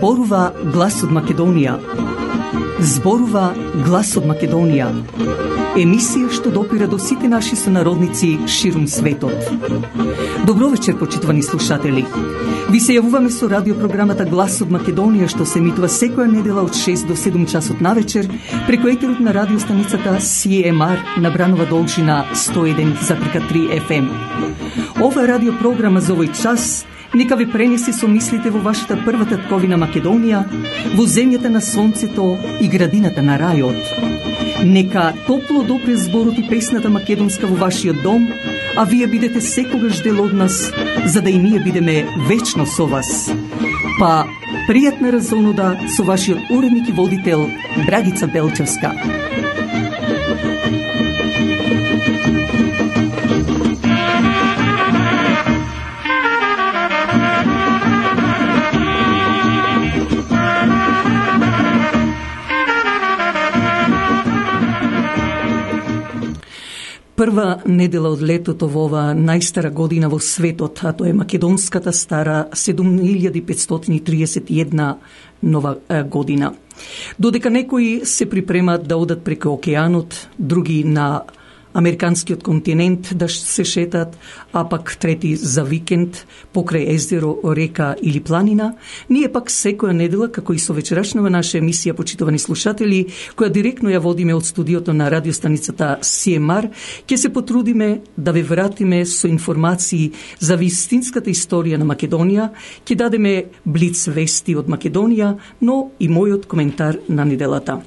Зборува глас од Македонија. Зборува глас од Македонија. Емисија што допира до сите наши сонародници ширум светот. Добро вечер, почитувани слушатели. Ви се јавуваме со радиопрограмата Глас од Македонија, што се емитува секоја недела од 6 до 7 часот навечер преку етерот на радиостаницата CMR на Бранова должина 101,3 FM. Ова радиопрограма за овој час нека ви пренеси со мислите во вашата прва татковина Македонија, во земјата на сонцето и градината на рајот. Нека топло допре зборот и песната македонска во вашиот дом, а вие бидете секогаш дел од нас, за да и ние бидеме вечно со вас. Па, пријатна разонода со вашиот уредник и водител Драгица Белчевска. Прва недела од летото во ова најстара година во светот, а тоа е македонската стара 7531 нова година. Додека некои се припремат да одат преку океанот, други на американскиот континент да се шетат, а пак трети за викенд покрај езеро, река или планина, ние пак секоја недела, како и со вечерашнава наша емисија, почитувани слушатели, која директно ја водиме од студиото на радиостаницата CMR, ќе се потрудиме да ве вратиме со информации за вистинската историја на Македонија, ќе дадеме блиц вести од Македонија, но и мојот коментар на неделата.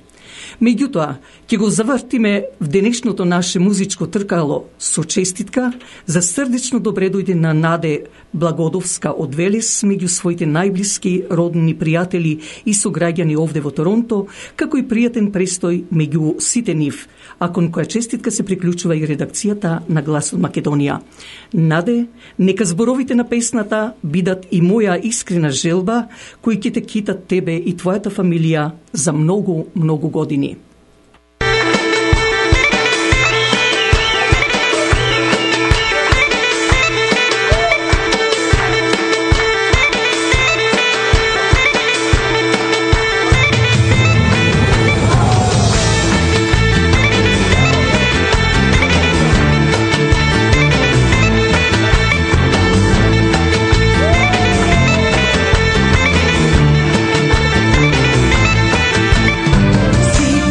Меѓутоа, ќе го завртиме в денешното наше музичко тркало со честитка за срдечно добре дојде на Наде Благодовска од Велес меѓу своите најблиски родни пријатели и сограѓани овде во Торонто, како и пријатен престој меѓу сите нив, а кон која честитка се приклучува и редакцијата на Глас од Македонија. Наде, нека зборовите на песната бидат и моја искрена желба, кои ќе те китат тебе и твојата фамилија за многу, многу години. See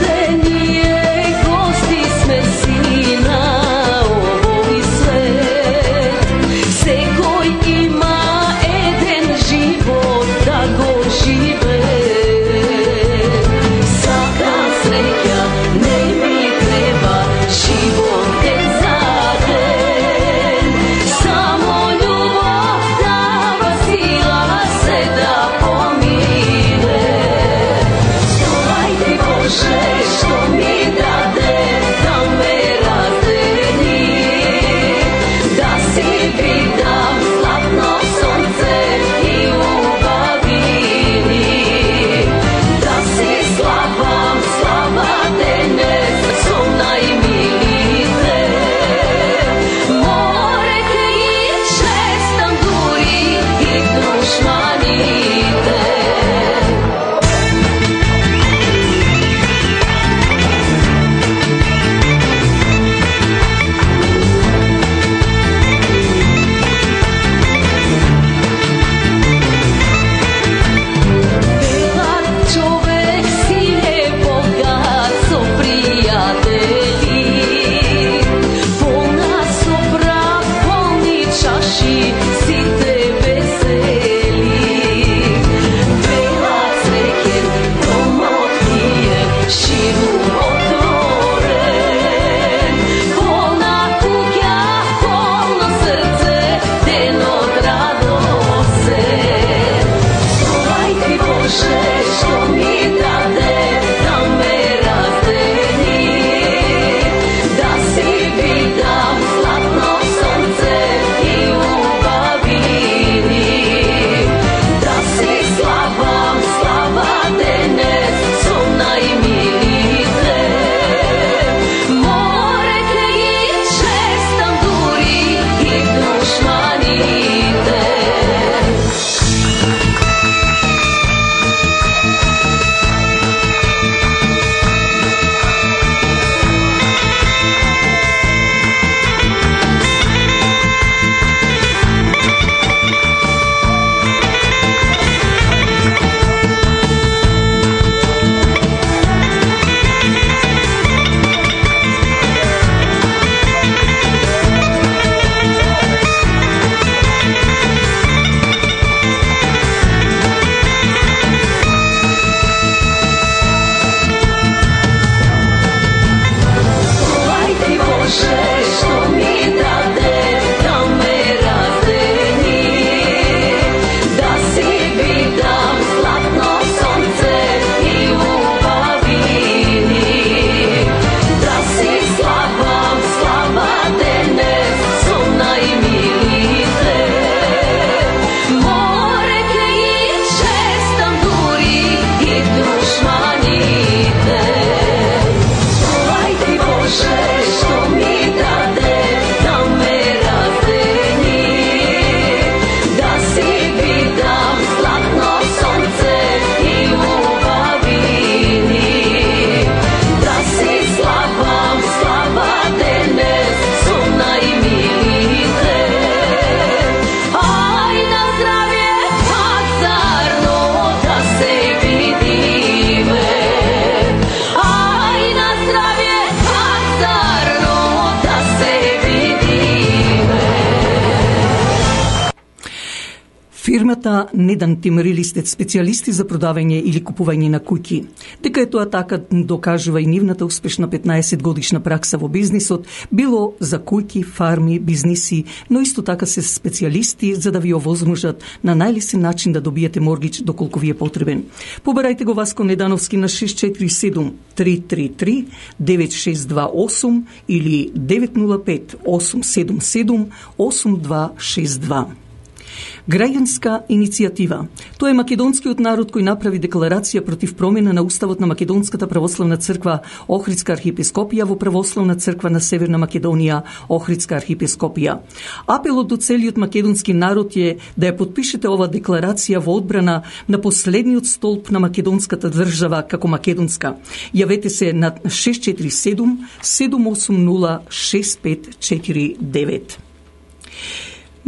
Кујната Недан Тимарилистет, специјалисти за продавање или купување на куќи. Дека е тоа така докажува и нивната успешна 15 годишна пракса во бизнисот, било за куќи, фарми, бизниси, но исто така се специјалисти за да ви овозможат на најлесен начин да добиете моргич доколку ви е потребен. Побарајте го Васко Недановски на 647 333 9628 или 905 877 8262. Граѓанска иницијатива. Тоа е македонскиот народ кој направи декларација против промена на уставот на Македонската православна црква Охридска архиепископија во Православна црква на Северна Македонија Охридска архиепископија. Апелот до целиот македонски народ е да ја потпишете ова декларација во одбрана на последниот столб на македонската држава како македонска. Јавете се на 647 780 6549.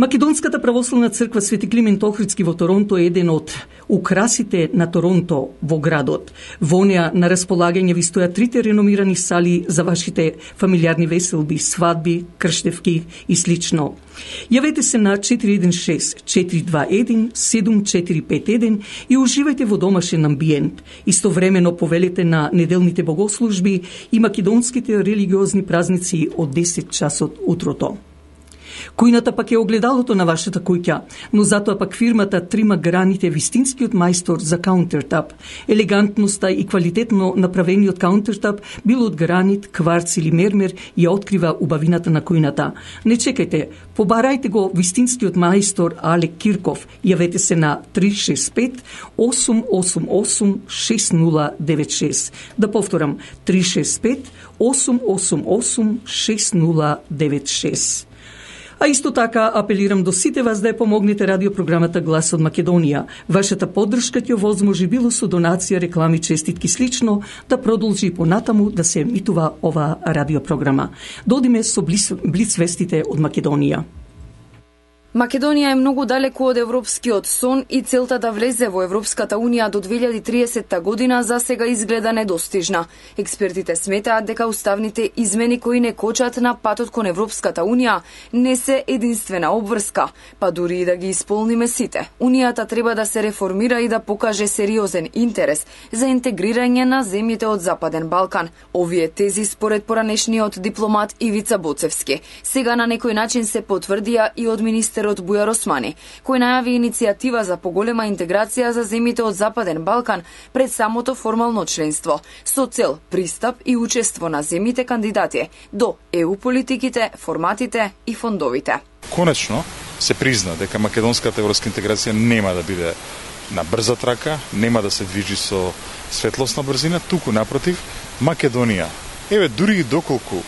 Македонската православна црква Свети Климент Охридски во Торонто е еден од украсите на Торонто во градот. Во неа на располагање ви стојат трите реномирани сали за вашите фамилиарни веселби, свадби, крштевки и слично. Јавете се на 416 421 7451 и уживајте во домашен амбиент. Истовремено повелете на неделните богослужби и македонските религиозни празници од 10 часот утрото. Кујната пак е огледалото на вашата куќа, но затоа пак фирмата трима граните вистинскиот мајстор за каунтертап. Елегантноста и квалитетно направениот каунтертап, било од гранит, кварц или мермер, ја открива убавината на кујната. Не чекајте, побарајте го вистинскиот мајстор Алек Кирков. Јавете се на 365 888 6096. Да повторам, 365 888 6096. А исто така апелирам до сите вас да ја помогнете радиопрограмата Глас од Македонија. Вашата поддршка ќе овозможи било со донација, реклами, честитки слично да продолжи и понатаму да се емитува ова радиопрограма. Додиме со блиц вестите од Македонија. Македонија е многу далеку од европскиот сон и целта да влезе во Европската Унија до 2030 година за сега изгледа недостижна. Експертите сметаат дека уставните измени кои не кочат на патот кон Европската Унија не се единствена обврска, па дури и да ги исполниме сите. Унијата треба да се реформира и да покаже сериозен интерес за интегрирање на земјите од Западен Балкан. Овие тези според поранешниот дипломат Ивица Боцевски сега на некој начин се потврдија и од министерот Бујар Османи, кој најави иницијатива за поголема интеграција за земјите од Западен Балкан пред самото формално членство, со цел пристап и учество на земјите кандидати до ЕУ политиките, форматите и фондовите. Конечно се призна дека македонската европска интеграција нема да биде на брза трака, нема да се движи со светлосна брзина, туку напротив, Македонија, дури и доколку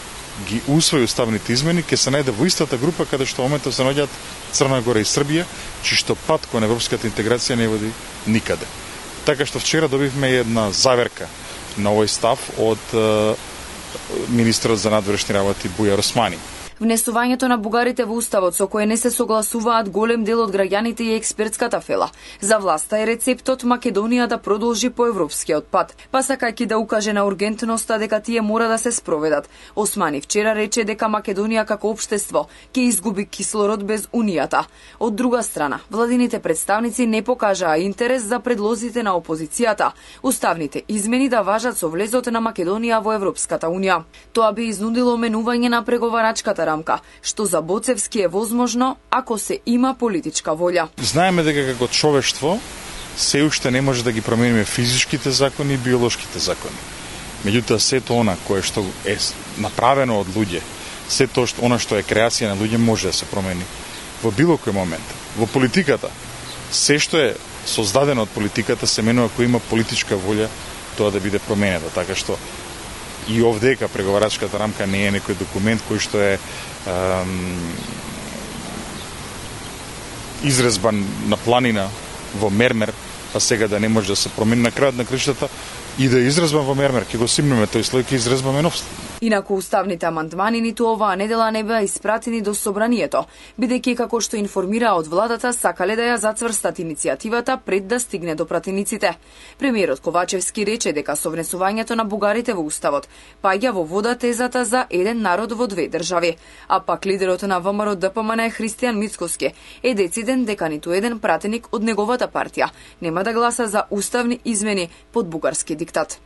ги усвои уставните измени, ќе се најде во истата група каде што моментот се наоѓаат Црна Гора и Србија, чишто пат кон европската интеграција не води никаде. Така што вчера добивме една заверка на овој став од министерот за надворешни работи Бујар Османи. Внесувањето на бугарите во уставот со кое не се согласуваат голем дел од граѓаните и експертската фела. За власта е рецептот Македонија да продолжи по европскиот пат, па сакајќи да укаже на ургентноста дека тие мора да се спроведат. Османи вчера рече дека Македонија како општество ќе изгуби кислород без Унијата. Од друга страна, владините представници не покажаа интерес за предлозите на опозицијата, уставните измени да важат со влезот на Македонија во Европската Унија. Тоа би изнудило менување на преговарачката рамка, што за Боцевски е возможно ако се има политичка волја. Знаеме дека како човештво се уште не може да ги промениме физичките закони и биолошките закони. Меѓутоа сето она кое што е направено од луѓе, сето она што е креација на луѓе може да се промени во било кој момент. Во политиката се што е создадено од политиката се менува ако има политичка волја тоа да биде променето, така што и овдека преговарачката рамка не е некој документ кој што е изрезбан на планина во мермер, па сега да не може да се промени. На крајот на кришата и да изрезбам во мермер, ќе го симнеме тој слој, ќе изрезбаме нов. Инаку уставните амандмани ниту оваа недела не беа испратени до собранието, бидејќи како што информира од владата сакале да ја зацврстат иницијативата пред да стигне до пратениците. Премиерот Ковачевски рече дека со внесувањето на бугарите во уставот паѓа во вода тезата за еден народ во две држави, а пак лидерот на ВМРО ДПМН Христијан Мицкоски е дециден дека ниту еден пратеник од неговата партија нема да гласа за уставни измени под бугарски диктат.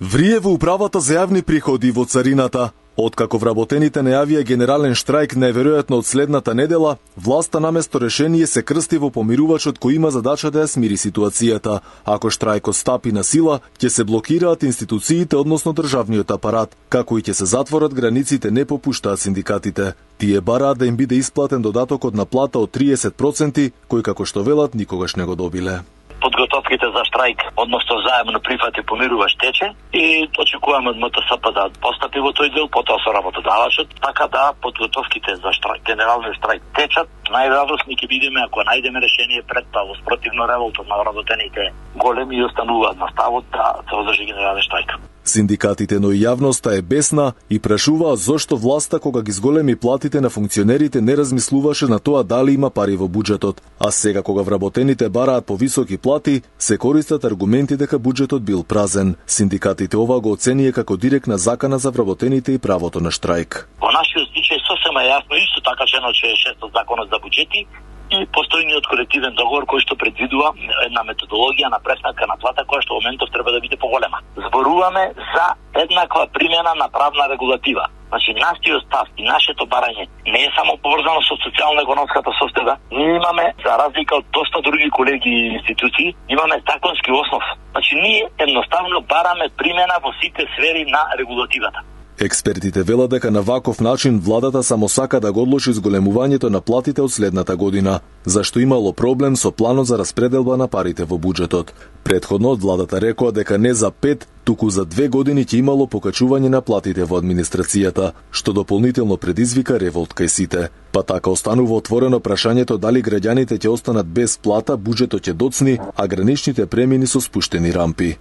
Врие во управата за јавни приходи во царината. Откако вработените најавија генерален штрајк најверојатно од следната недела, власта наместо решение се крсти во помирувачот кој има задача да ја смири ситуацијата. Ако штрајкот стапи на сила, ќе се блокираат институциите, односно државниот апарат, како и ќе се затворат границите, не попуштаат синдикатите. Тие бараат да им биде исплатен додатокот на плата од 30%, кој како што велат никогаш не го добиле. Подготовките за штрајк, односно заемно прифат и помирувач тече и очекуваме од МТСП да постапи во тој дел, потоа со работодавачот, така да подготовките за штрајк, генералниот штрајк течат. Најрадосни ќе бидеме ако најдеме решение пред тоа, спротивно револтот на вработените големи и остануваат на ставот да се одржи генерален штрајк. Синдикатите, но и јавноста е бесна и прашуваат зошто власта кога ги зголеми платите на функционерите не размислуваше на тоа дали има пари во буџетот, а сега кога вработените бараат повисоки плати, се користат аргументи дека буџетот бил празен. Синдикатите ова го оценија како директна закана за вработените и правото на штрајк. Во нашиот случај сосема јасно исто така член 66 од законот за буџети и постојниот колективен договор кој што предвидува една методологија на пресметка на плата која што во моментов треба да биде поголема. Зборуваме за еднаква примена на правна регулатива. Значи, нашиот став и нашето барање не е само поврзано со социјално-економската состојба. Ние имаме, за разлика од доста други колеги и институции, имаме законски основ. Значи, ние едноставно бараме примена во сите сфери на регулативата. Експертите велат дека на ваков начин владата само сака да го одложи зголемувањето на платите од следната година, зашто имало проблем со планот за распределба на парите во буџетот. Претходно од владата рекоа дека не за 5, туку за 2 години ќе имало покачување на платите во администрацијата, што дополнително предизвика револт кај сите. Па така останува отворено прашањето дали граѓаните ќе останат без плата, буџетот ќе доцни, а граничните премини со спуштени рампи.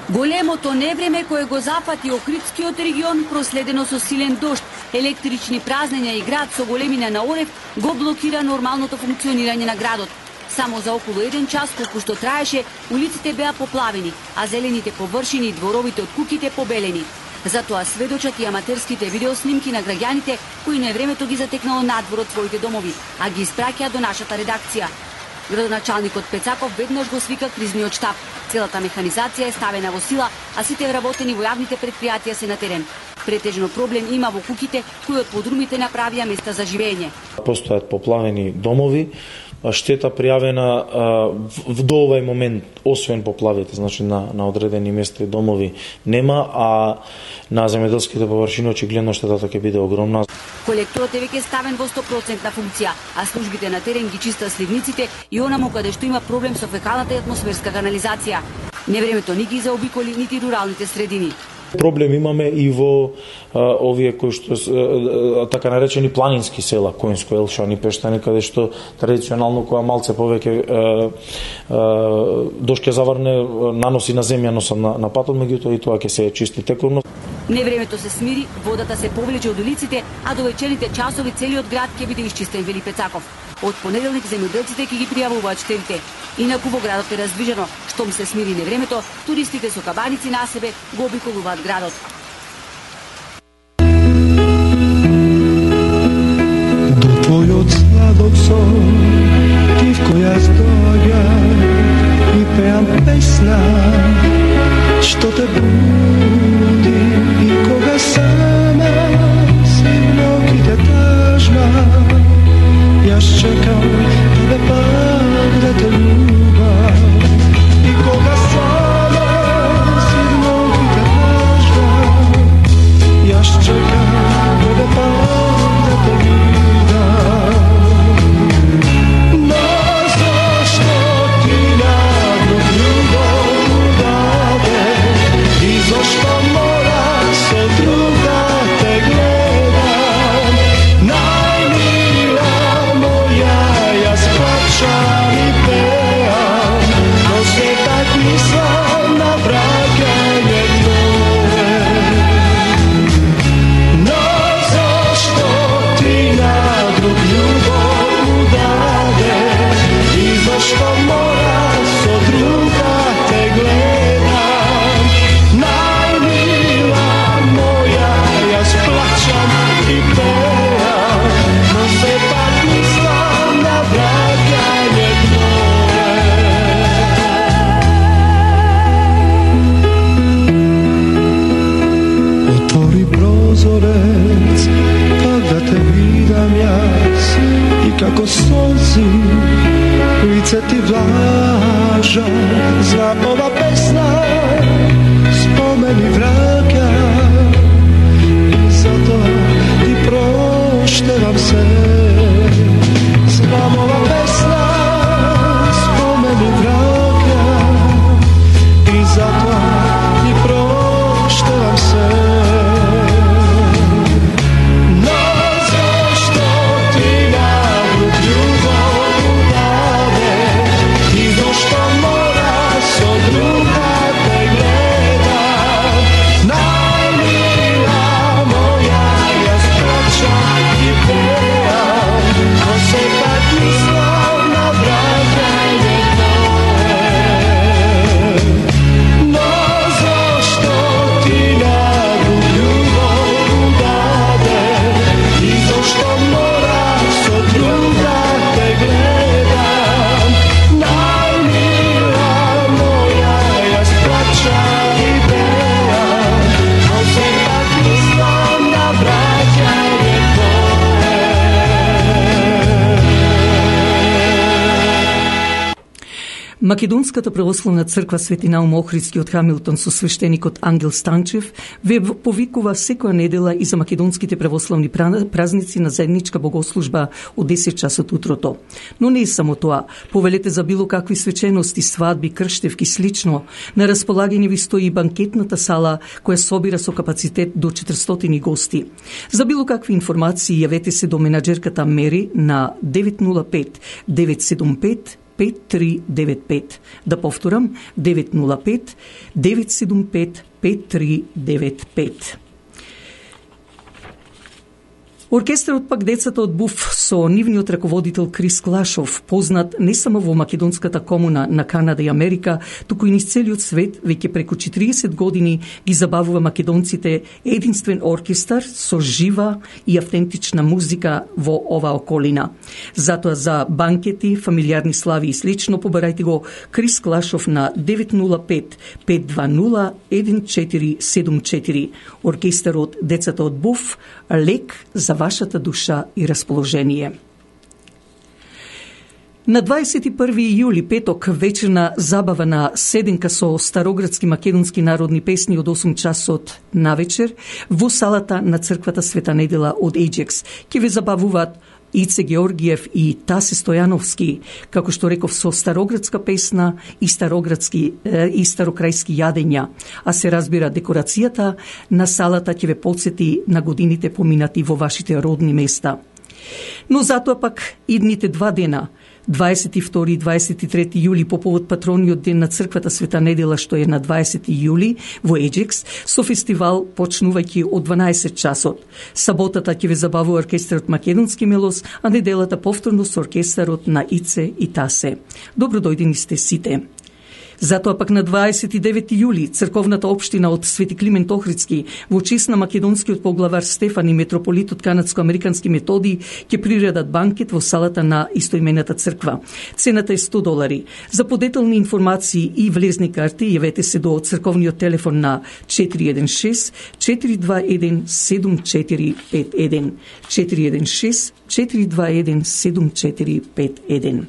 Големото невреме кое го запати Охридскиот регион, проследено со силен дожд, електрични празнења и град со големина на орев, го блокира нормалното функционирање на градот. Само за околу 1 час, колку што траеше, улиците беа поплавени, а зелените површини и дворовите од куќите побелени. Затоа сведочат и аматерските видеоснимки на граѓаните кои невремето ги затекнало надвор од своите домови, а ги испраќаа до нашата редакција. Градоначалникот Пецаков веднаш го свика кризниот штаб. Целата механизација е ставена во сила, а сите вработени во јавните предпријатија се на терен. Претежно проблем има во куќите кои од подрумите направија места за живење. Постојат поплавени домови, штета пријавена до овај момент, освен поплавите, значи на одредени места и домови нема, а на земјоделските површини очигледно штетата ќе биде огромна. Колекторот е веќе ставен во 100% функција, а службите на терен ги чистат сливниците и онаму каде што има проблем со фекалната и атмосферска канализација. Невремето ни ги заобиколи нити руралните средини. Проблем имаме и во овие кои што така наречени планински села, Коинско, Елшан и Пештани, каде што традиционално која малце повеќе дожд ќе заврне, наноси на земја носам на патот, меѓутоа и тоа ќе се чисти тековно. Невремето се смири, водата се повлече од улиците, а до вечерните часови целиот град ќе биде исчистен, вели Пецаков. Од понеделник земјоделците ќе ги пријавуваат штетите. Инаку во градот е раздвижено. Штом се смири невремето, туристите со кабаници на себе го обиколуваат градот. До твојот сладок сон, тивко јас доаѓам и пеам песна, што те буди и кога сама си ноќите тажна. Јас чекам тебе пак да те љубам и кога сама си ноќите тажна. mrazi, lice ti vlaža, znam ova pesna spomeni vraga i zato ti proštevam se. Znam ova pesna spomeni vraga i zato ti proštevam se. Македонската православна црква Свети Наум Охридски од Хамилтон со свештеникот Ангел Станчев ве повикува секоја недела и за македонските православни празници на заедничка богослужба од 10 часот утрото. Но не е само тоа. Повелете за било какви свечености, свадби, крштевки, слично. На располагање ви стои банкетната сала која собира со капацитет до 400 гости. За било какви информации јавете се до менаџерката Мери на 905 975 5395. Да повторам, 905 975 5395. Оркестарот пак Децата од Буф со нивниот раководител Крис Клашов, познат не само во македонската комуна на Канада и Америка, туку и низ целиот свет, веќе преку 40 години ги забавува македонците единствен оркестар со жива и автентична музика во оваа околина. Затоа за банкети, фамилиарни слави и слично побарајте го Крис Клашов на 905 520 1474. Оркестарот Децата од Буф, лек за вашата душа и расположение. На 21. јули, петок, вечерна забава на седенка со староградски македонски народни песни од 8 часот на вечер во салата на црквата Света Недела од Ajax. Ке ве забавуваат Ице Георгиев и Тасе Стојановски, како што реков, со староградска песна и старокрајски јадења. А се разбира, декорацијата на салата ќе ве потсети на годините поминати во вашите родни места. Но затоа пак идните 2 дена, 22 и 23 јули по повод патрониот ден на црквата Света Недела, што е на 20 јули во Ajax, со фестивал почнувајќи од 12 часот. Саботата ќе ве забавува оркестарот Македонски Мелос, а неделата повторно со оркестарот на Ице и Тасе. Добро дојдени сте сите. Затоа пак на 29 јули црковната општина од Свети Климент Охридски во чест на македонскиот поглавар Стефан и митрополитот канадско-американски Методи ќе приредат банкет во салата на истоимената црква. Цената е $100. За подетелни информации и влезни карти јавете се до црковниот телефон на 416 421 7451 416 421 7451.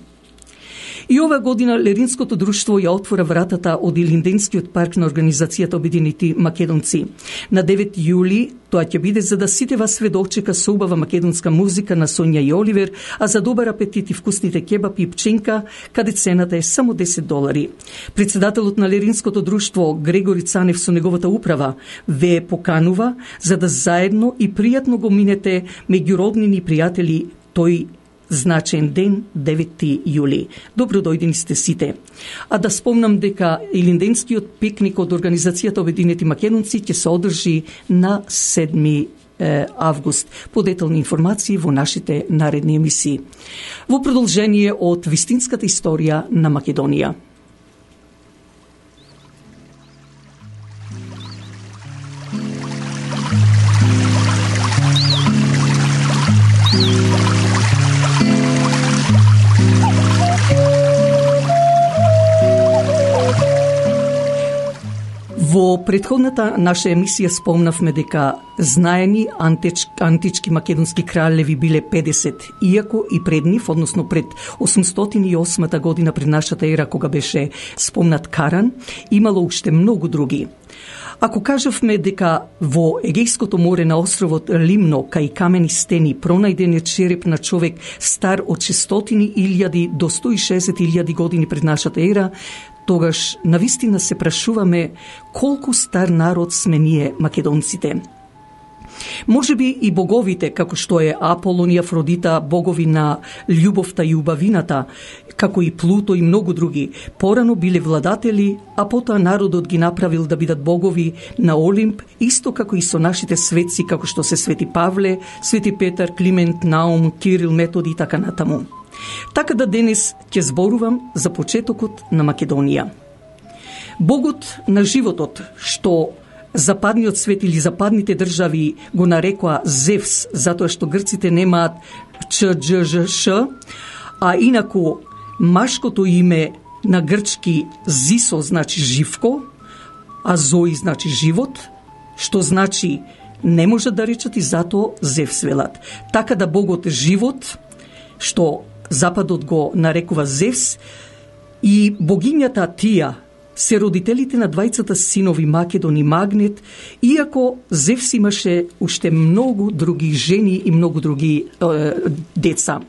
И оваа година Леринското друштво ја отвора вратата од Илинденскиот парк на Организацијата Обединети македонци. На 9 јули тоа ќе биде за да сите вас све дочека со убава македонска музика на Сонја и Оливер, а за добар апетит и вкусните кебапи и пченка, каде цената е само $10. Председателот на Леринското друштво Грегори Цанев со неговата управа ве поканува за да заедно и пријатно го минете меѓу роднини и пријатели тој значен ден, 9 јули. Добро дојдени сте сите. А да спомнам дека Илинденскиот пикник од Организацијата Обединети македонци ќе се одржи на 7 август. Подетелни информации во нашите наредни емисии. Во продолжение од вистинската историја на Македонија. Во претходната наша емисија спомнавме дека знаени антички македонски кралеви биле 50, иако и пред нив, односно пред 808 година пред нашата ера, кога беше спомнат Каран, имало уште многу други. Ако кажавме дека во Егејското море на островот Лимно, кај камени стени, пронајден е череп на човек стар од 600.000 до 160.000 години пред нашата ера, тогаш навистина се прашуваме колку стар народ сме ние македонците. Може би и боговите, како што е Аполон и Афродита, богови на љубовта и убавината, како и Плуто и многу други, порано биле владатели, а потоа народот ги направил да бидат богови на Олимп, исто како и со нашите светци, како што се Свети Павле, Свети Петар, Климент, Наум, Кирил, Методи и така натаму. Така да денес ќе зборувам за почетокот на Македонија. Богот на животот, што западниот свет или западните држави го нарекоа Зевс, затоа што грците немаат ЧДЖШ, а инаку машкото име на грчки Зисо значи живко, а Зои значи живот, што значи не можат да речат и затоа Зевс велат. Така да Богот живот, што Западот го нарекува Зевс, и богињата Тија се родителите на двајцата синови Македон и Магнет, иако Зевс имаше уште многу други жени и многу други деца.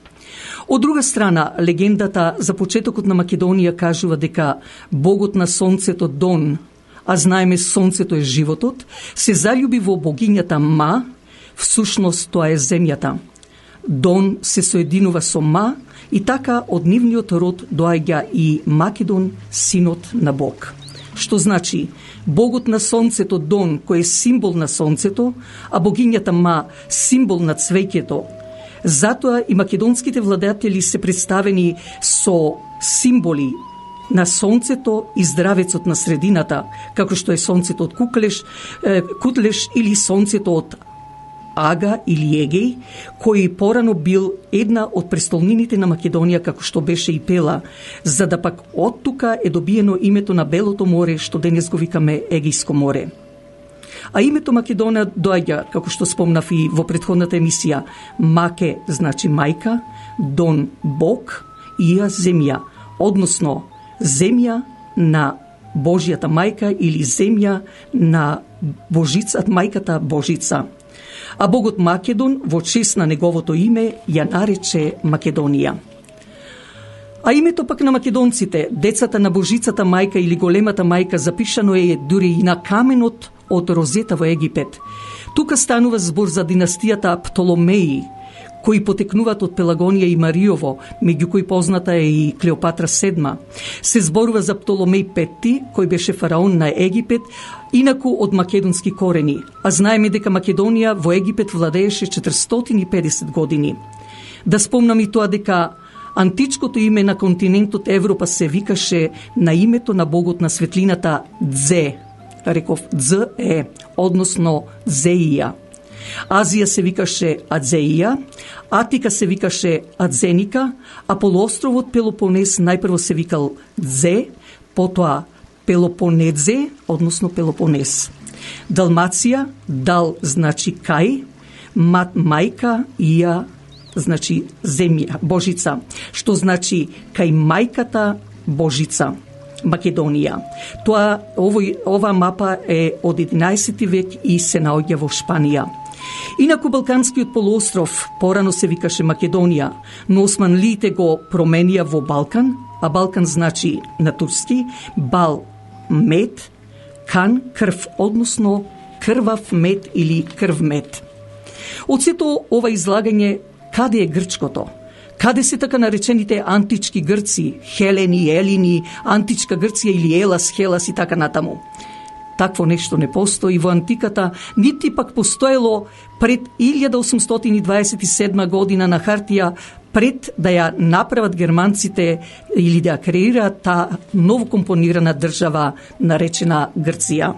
Од друга страна, легендата за почетокот на Македонија кажува дека богот на сонцето Дон, а знаеме сонцето е животот, се заљуби во богињата Ма, всушност тоа е земјата. Дон се соединува со Ма и така од нивниот род доаѓа и Македон, синот на Бог. Што значи, богот на сонцето Дон, кој е символ на сонцето, а богињата Ма, символ на цвеќето. Затоа и македонските владетели се представени со символи на сонцето и здравецот на средината, како што е сонцето од Кутлеш или сонцето од Ага или Егеј, кој порано бил една од престолнините на Македонија, како што беше и Пела, за да пак од тука е добиено името на Белото море, што денес го викаме Егејско море. А името Македонија доаѓа, како што спомнав и во претходната емисија, Маке значи мајка, Дон Бог, Ија земја, односно земја на Божјата мајка или земја на Божицата, мајката Божица. А богот Македон во чест на неговото име ја нарече Македонија. А името пак на македонците, децата на Божицата мајка или големата мајка, запишано е дури и на каменот од Розета во Египет. Тука станува збор за династијата Птоломеи, кои потекнуваат од Пелагонија и Мариово, меѓу кои позната е и Клеопатра VII. Се зборува за Птоломеј V, кој беше фараон на Египет, инаку од македонски корени, а знаеме дека Македонија во Египет владееше 450 години. Да спомнам и тоа дека античкото име на континентот Европа се викаше на името на богот на светлината Дзе, реков Дзе, односно Зеија. Азија се викаше Адзеија, Атика се викаше Адзеника, а полуостровот Пелопонес најпрво се викал Дзе, потоа Пелопонедзе, односно Пелопонес. Далмација, Дал значи кај, Мат мајка, Ија значи земја, Божица, што значи кај мајката Божица, Македонија. Ова мапа е од 11 век и се наоѓа во Шпанија. Инаку Балканскиот полуостров порано се викаше Македонија, но османлиите го променија во Балкан, а Балкан значи на турски Бал мед, кан крв, односно крвав мед или крвмед. Од сето ова излагање, каде е грчкото? Каде се така наречените антички грци, Хелени, Елини, античка Грција или Елас, Хелас и така натаму? Такво нешто не постои во антиката, нити пак постоело пред 1827 година на хартија, пред да ја направат германците или да ја креираат таа новокомпонирана држава наречена Грција.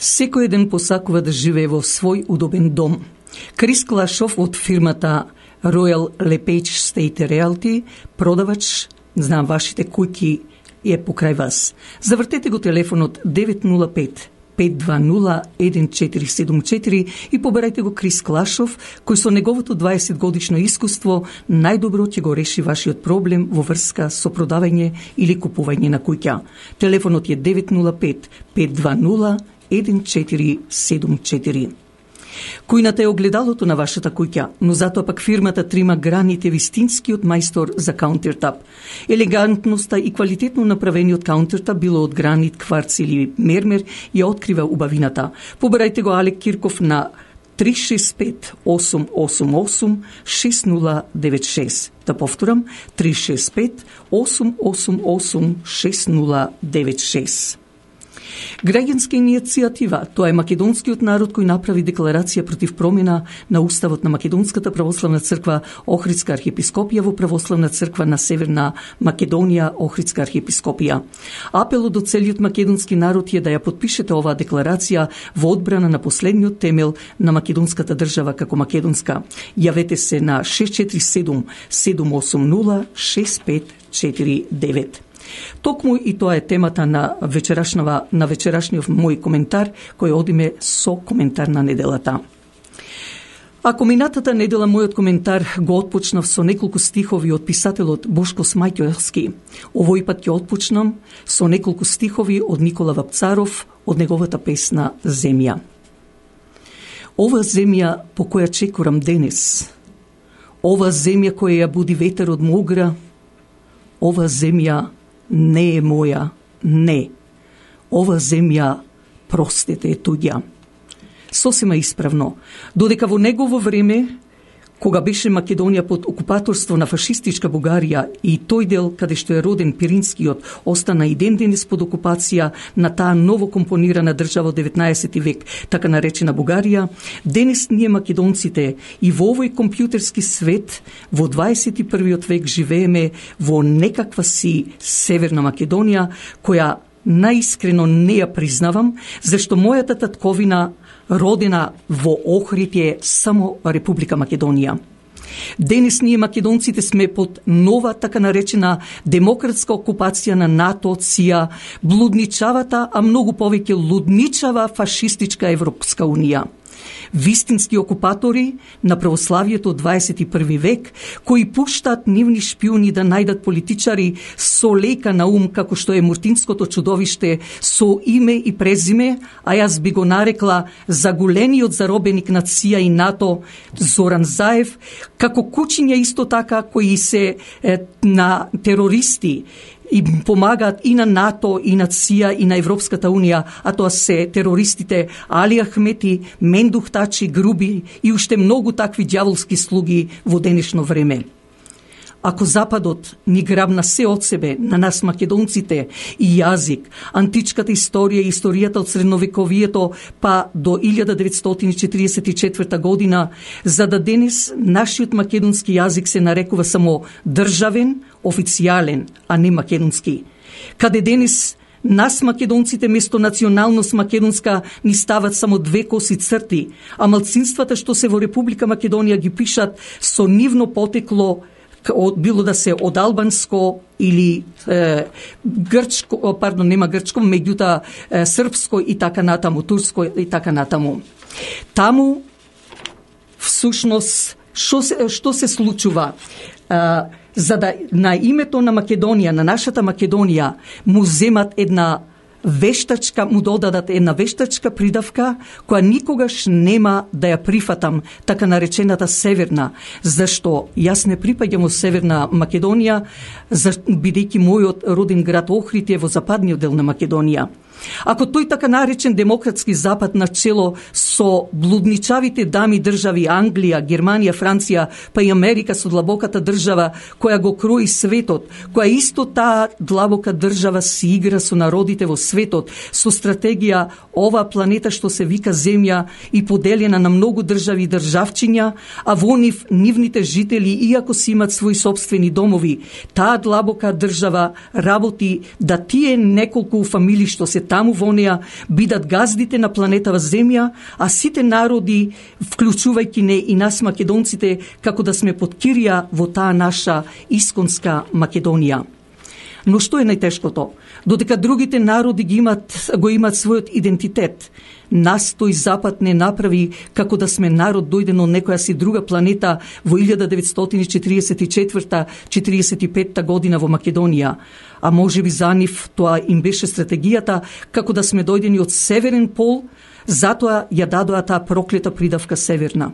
Секој еден посакува да живее во свој удобен дом. Крис Клашов од фирмата Royal LePage State Realty, продавач, знам вашите куќи е покрај вас. Завртете го телефонот 905-520-1474 и поберајте го Крис Клашов, кој со неговото 20 годишно искуство најдобро ќе го реши вашиот проблем во врска со продавање или купување на куќа. Телефонот е 905-520-1474. Кујната е огледалото на вашата куќа, но затоа пак фирмата трима граните вистинскиот мајстор за каунтертап. Елегантноста и квалитетно направениот каунтертап, било од гранит, кварц или мермер, ја открива убавината. Побарајте го Алек Кирков на 365-888-6096. Да повторам, 365-888-6096. Граѓанска иницијатива, тоа е македонскиот народ кој направи декларација против промена на уставот на Македонската православна црква Охридска архиепископија во Православна црква на Северна Македонија Охридска архиепископија. Апелот до целиот македонски народ е да ја подпишете оваа декларација во одбрана на последниот темел на македонската држава како македонска. Јавете се на 647-780-6549. Токму и тоа е темата на вечерашниот мој коментар, кој одиме со коментар на неделата. Ако минатата недела мојот коментар го отпочнав со неколку стихови од писателот Бошко Смајќовски, овој пат ќе отпочнам со неколку стихови од Никола Вапцаров од неговата песна Земја. Ова земја по која чекорам денес, ова земја која ја буди ветер од Могра, ова земја не е моја, не. Ова земја, простете, е туѓа. Сосема исправно, додека во негово време, кога беше Македонија под окупаторство на фашистичка Бугарија и тој дел каде што е роден Пиринскиот остана и ден денес под окупација на таа ново компонирана држава од 19 век, така наречена Бугарија, денес ние македонците и во овој компјутерски свет во 21 век живееме во некаква си Северна Македонија, која наискрено не ја признавам, зашто мојата татковина родена во Охрид е само Република Македонија. Денес ние македонците сме под нова така наречена демократска окупација на НАТО, ЦИА, блудничавата, а многу повеќе лудничава фашистичка Европска унија. Вистински окупатори на православието од 21 век, кои пуштаат нивни шпиони да најдат политичари со лека на ум, како што е Муртинското чудовиште, со име и презиме, а јас би го нарекла заголениот заробеник на ЦИА и НАТО Зоран Заев, како кучиња исто така кои се на терористи и помагаат и на НАТО, и на ЦИА, и на Европската Унија, а тоа се терористите Али Ахмети, Мендух Тачи, Груби и уште многу такви ѓаволски слуги во денешно време. Ако Западот ни грабна се од себе, на нас македонците, и јазик, античката историја и историјата од средновековието па до 1944 година, за да денес нашиот македонски јазик се нарекува само државен, официјален, а не македонски. Каде денес нас македонците место националност македонска ни стават само две коси црти, а малцинствата што се во Република Македонија ги пишат со нивно потекло, било да се од албанско или грчко, нема грчко, меѓута српско и така натаму, турско и така натаму. Таму всушност што се случува? За да на името на Македонија, на нашата Македонија, му земат му додадат една вештачка придавка, која никогаш нема да ја прифатам, така наречената Северна, зашто јас не припаѓам во Северна Македонија, бидејќи мојот роден град Охрид е во западниот дел на Македонија. Ако тој така наречен демократски запад на чело со блудничавите дами држави Англија, Германија, Франција, па и Америка со длабоката држава која го крои светот, која исто таа длабока држава си игра со народите во светот, со стратегија ова планета што се вика Земја и поделена на многу држави и државчиња, а во нивните жители, иако си имат своји сопствени домови, таа длабока држава работи да тие неколку фамилии што се таму во неа бидат газдите на планетава Земја, а сите народи, вклучувајќи не и нас македонците, како да сме под кирија во таа наша исконска Македонија. Но што е најтешкото? Додека другите народи го имат својот идентитет, нас тој Запад не направи како да сме народ дојден од некоја си друга планета во 1944-45 година во Македонија. А може би за нив тоа им беше стратегијата како да сме дојдени од Северен пол, затоа ја дадоа таа проклета придавка Северна.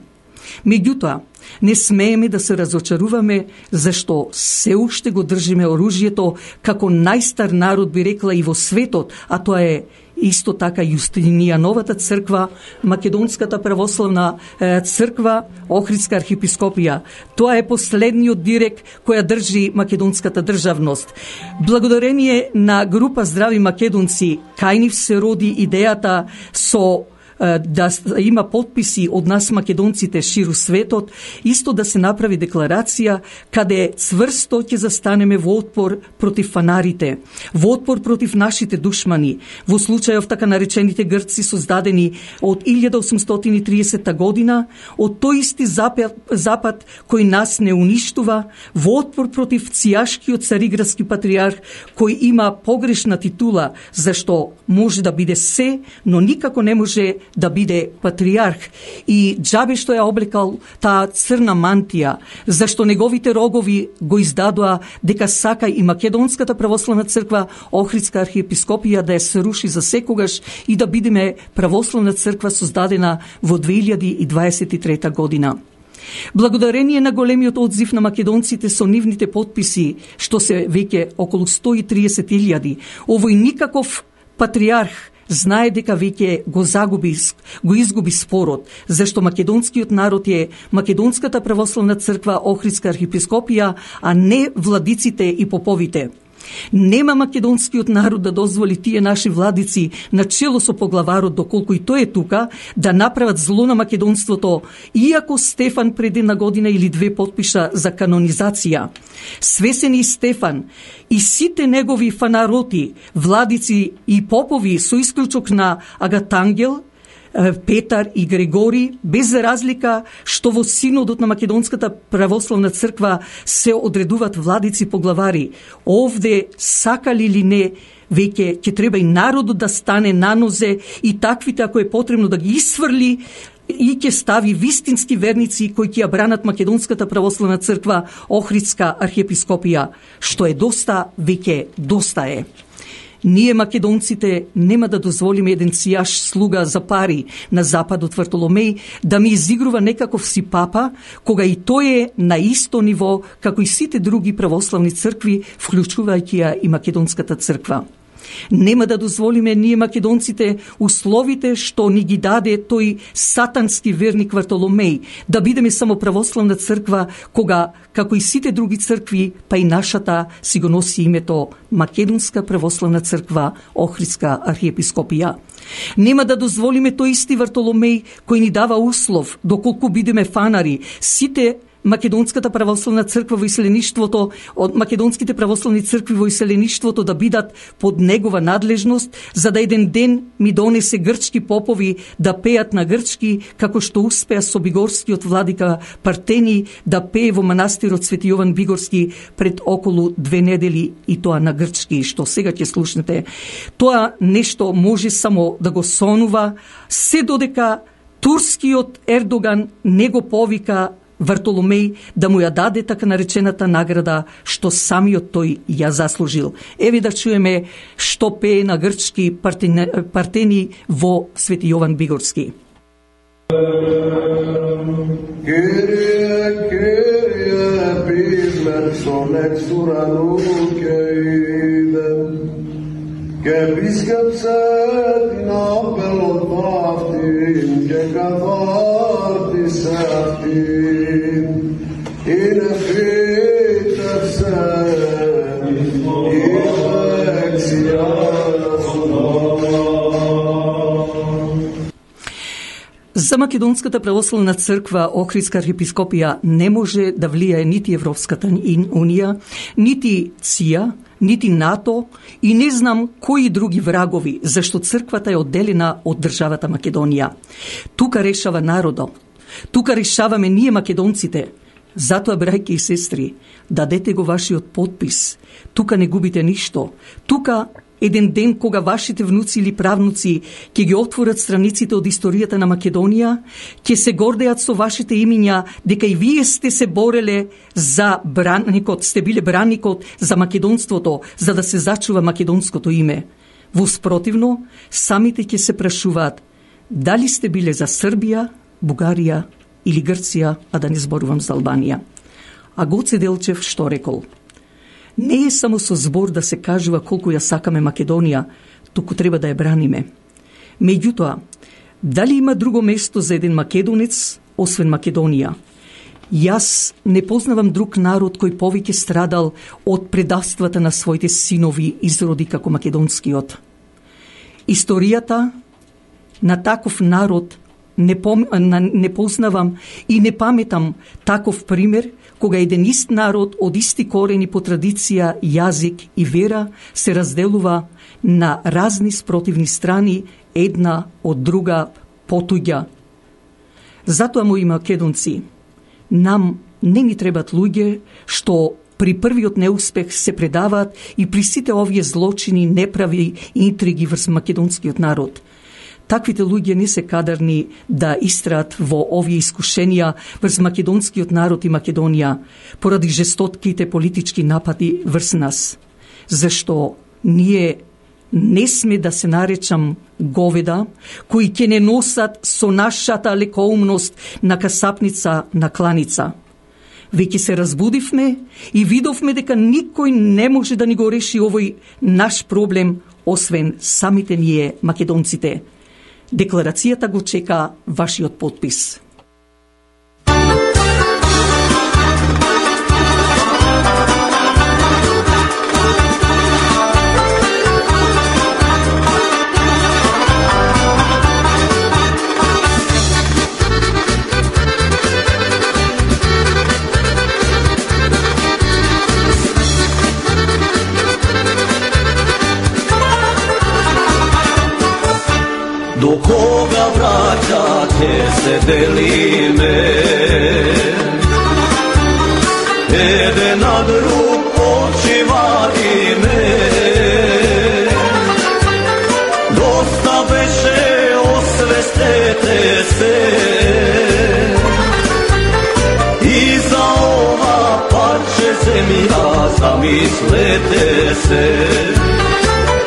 Меѓутоа, не смееме да се разочаруваме, зашто се уште го држиме оружјето како најстар народ, би рекла, и во светот, а тоа е исто така Јустинијановата црква, Македонската православна црква, Охридска архиепископија. Тоа е последниот дирек која држи македонската државност. Благодарение на група Здрави македонци, кај нив се роди идејата со да има подписи од нас македонците ширу светот, исто да се направи декларација каде цврсто ќе застанеме во отпор против фанарите, во отпор против нашите душмани, во случајов така наречените грци создадени од 1830 година, од тој исти запад кој нас не уништува, во отпор против цијашкиот цариградски патриарх кој има погрешна титула, зашто може да биде се, но никако не може да биде патриарх, и џабе што ја облекал таа црна мантија, зашто неговите рогови го издадоа дека сака и Македонската православна црква, Охридска архиепископија да ја се руши за секогаш и да бидеме православна црква создадена во 2023 година. Благодарение на големиот одзив на македонците со нивните подписи, што се веќе околу 130.000, овој никаков патриарх знае дека веќе го изгуби спорот, зашто македонскиот народ е Македонската православна црква, Охридска архиепископија, а не владиците и поповите. Нема македонскиот народ да дозволи тие наши владици на чело со поглаварот, доколку и тој е тука, да направат зло на македонството, иако Стефан пред една година или две подпиша за канонизација. Свесен и Стефан и сите негови фанароти, владици и попови со исклучок на Агатангел, Петар и Грегори, без разлика што во синодот на Македонската православна црква се одредуваат владици поглавари. Овде, сакали или не, веќе ќе треба и народот да стане на нозе и таквите, ако е потребно, да ги исфрли и ќе стави вистински верници кои ќе ја бранат Македонската православна црква, Охридска архиепископија. Што е доста, веќе доста е. Ние македонците нема да дозволиме еден цијаш слуга за пари на Западот Вартоломеј да ми изигрува некаков си папа, кога и тој е на исто ниво како и сите други православни цркви, вклучувајќи ја и Македонската црква. Нема да дозволиме ние македонците условите што ни ги даде тој сатански верник Вартоломеј да бидеме само православна црква, кога, како и сите други цркви, па и нашата си го носи името Македонска православна црква, Охридска архиепископија. Нема да дозволиме тој исти Вартоломеј кој ни дава услов, доколку бидеме фанари, сите Македонската православна црква во иселеништвото, од македонските православни цркви во иселеништвото да бидат под негова надлежност, за да еден ден ми донесе грчки попови да пеат на грчки, како што успеа со бигорскиот владика Партени да пее во манастирот Свети Јован Бигорски пред околу 2 недели, и тоа на грчки, што сега ќе слушнете. Тоа нешто може само да го сонува, се додека турскиот Ердоган не го повика Вартоломеј да му ја даде така наречената награда што самиот тој ја заслужил. Еве да чуеме што пее на грчки Партени во Свети Јован Бигорски. Και επίσκεψε την απελών αυτήν και καθάρτισε αυτήν. Είναι φύτευσε η δεξιά σου. За Македонската православна црква, Охридска архиепископија не може да влијае нити Европската унија, нити ЦИА, нити НАТО и не знам кои други врагови, зашто црквата е одделена од државата Македонија. Тука решава народот. Тука решаваме ние македонците. Затоа, брајки и сестри, дадете го вашиот подпис. Тука не губите ништо. Тука еден ден кога вашите внуци или правнуци ќе ги отворат страниците од историјата на Македонија, ќе се гордеат со вашите имиња дека и вие сте се бореле за бранникот, сте биле бранникот за македонството, за да се зачува македонското име. Во спротивно, самите ќе се прашуваат дали сте биле за Србија, Бугарија или Грција, а да не зборувам за Албанија. А Гоце Делчев што рекол? Не е само со збор да се кажува колку ја сакаме Македонија, туку треба да ја браниме. Меѓутоа, дали има друго место за еден македонец, освен Македонија? Јас не познавам друг народ кој повеќе страдал од предавствата на своите синови изроди како македонскиот. Историјата на таков народ не познавам и не паметам таков пример кога еден ист народ од исти корени по традиција, јазик и вера се разделува на разни спротивни страни, една од друга потуѓа. Затоа, мои македонци, нам не ни требат луѓе што при првиот неуспех се предаваат и при сите овие злочини, неправи и интриги врз македонскиот народ. Таквите луѓе не се кадарни да истраат во овие искушенија врз македонскиот народ и Македонија поради жестотките политички напади врз нас. Зашто ние не сме да се наречам говеда кои ќе не носат со нашата лекоумност на касапница на кланица. Веќе се разбудивме и видовме дека никој не може да ни го реши овој наш проблем освен самите ние македонците. Декларацијата го чека вашиот подпис. До кога браќа ќе се делиме? Еден на друг очи вадиме. Доста беше, освестете се. И за ова парче земја замислете се.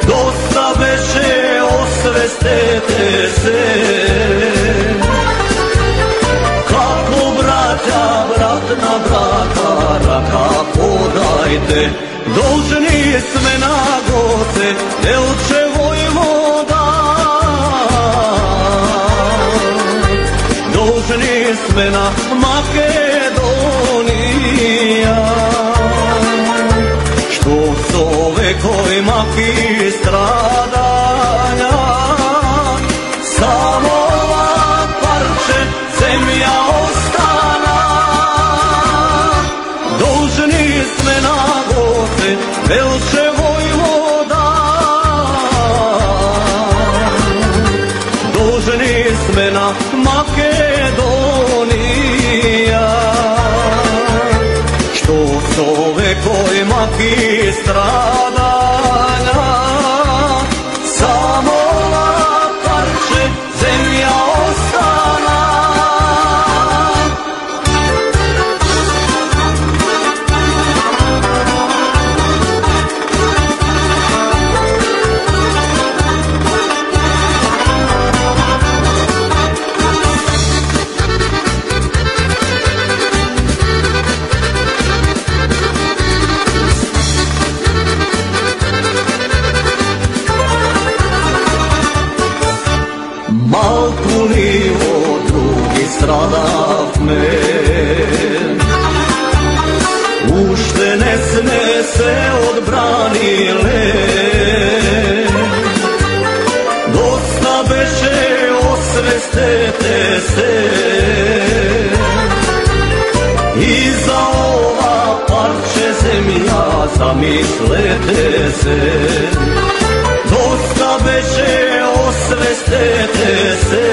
Доста беше, освестете се. Како браќа, брат на брата, рака подајте. Должни сме на Гоце Делче војвода. Должни сме на Македонија. Што со векој маки страдања, само ова парче земја остана. Должни сме на Гоце Делче војвода. Должни сме на Македонија. Што со векој маки страдања, само ова парче земја остана. Малку ли од други страдавме, уште не сме се одбраниле. Доста беше, освестете се. И за ова парче земја zamislete se. Dosta beše, osvestete se.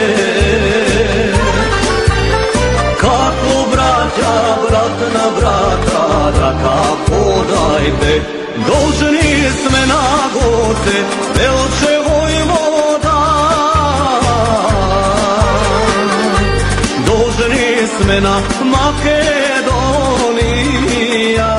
Kako braća, brat na brata, raka podajte. Должни сме на Гоце, Велче војвода. Должни сме на Македонија.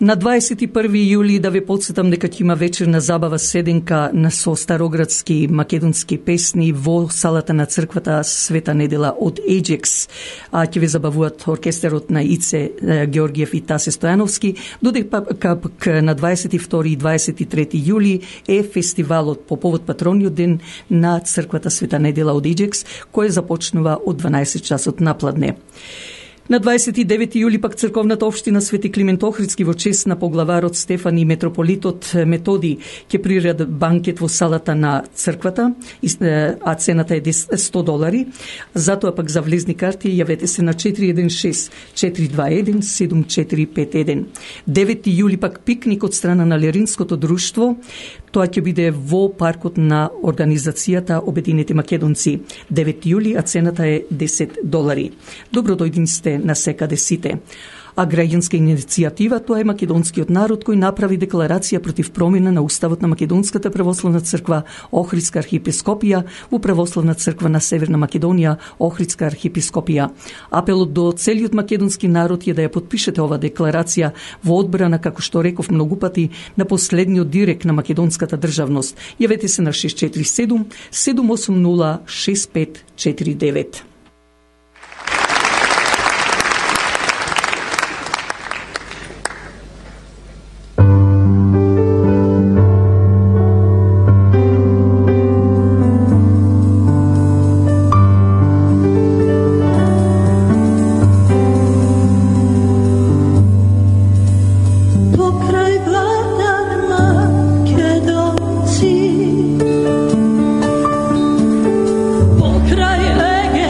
На 21 јули да ве подсетам дека ќе има вечерна забава седенка со староградски македонски песни во салата на црквата Света Недела од Еџекс. Ќе ве забавуваат оркестерот на Ице Георгиев и Тасе Стојановски, додека на 22 и 23 јули е фестивалот по повод патрониот ден на црквата Света Недела од Еџекс, кој започнува од 12 часот напладне. На 29 јули пак црковната општина Свети Климент Охридски во чест на поглаварот Стефан и митрополитот Методи ќе приредат банкет во салата на црквата, а цената е $100. Затоа пак за влезни карти јавете се на 416-421-7451. 9 јули пак пикник од страна на Леринското друштво. Тоа ќе биде во паркот на организацијата Обединети македонци. 9 јули, а цената е $10. Добро дојден сте на секаде сите. А граѓанска иницијатива, тоа е македонскиот народ кој направи декларација против промена на уставот на Македонската православна црква Охридска архиепископија во Православна црква на Северна Македонија Охридска архиепископија. Апелот до целиот македонски народ е да ја подпишете ова декларација во одбрана, како што реков многу пати, на последниот директ на македонската државност. Јавете се на 647 780 6549. Pokraj lege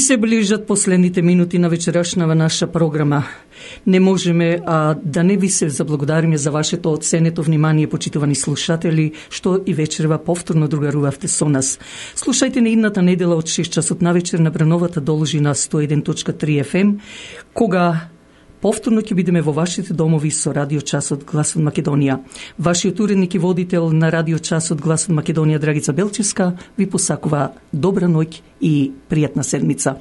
се ближат последните минути на вечерашнава наша програма. Не можеме да не ви се заблагодариме за вашето оценето внимание, почитувани слушатели, што и вечерва повторно другарувавте со нас. Слушајте на идната недела од 6 часот навечер на Брановата должина 101.3 FM, кога повторно ќе бидеме во вашите домови со Радио Часот Глас од Македонија. Вашиот уредник и водител на Радио Часот Глас од Македонија, Драгица Белчевска, ви посакува добра ноќ и пријатна седмица.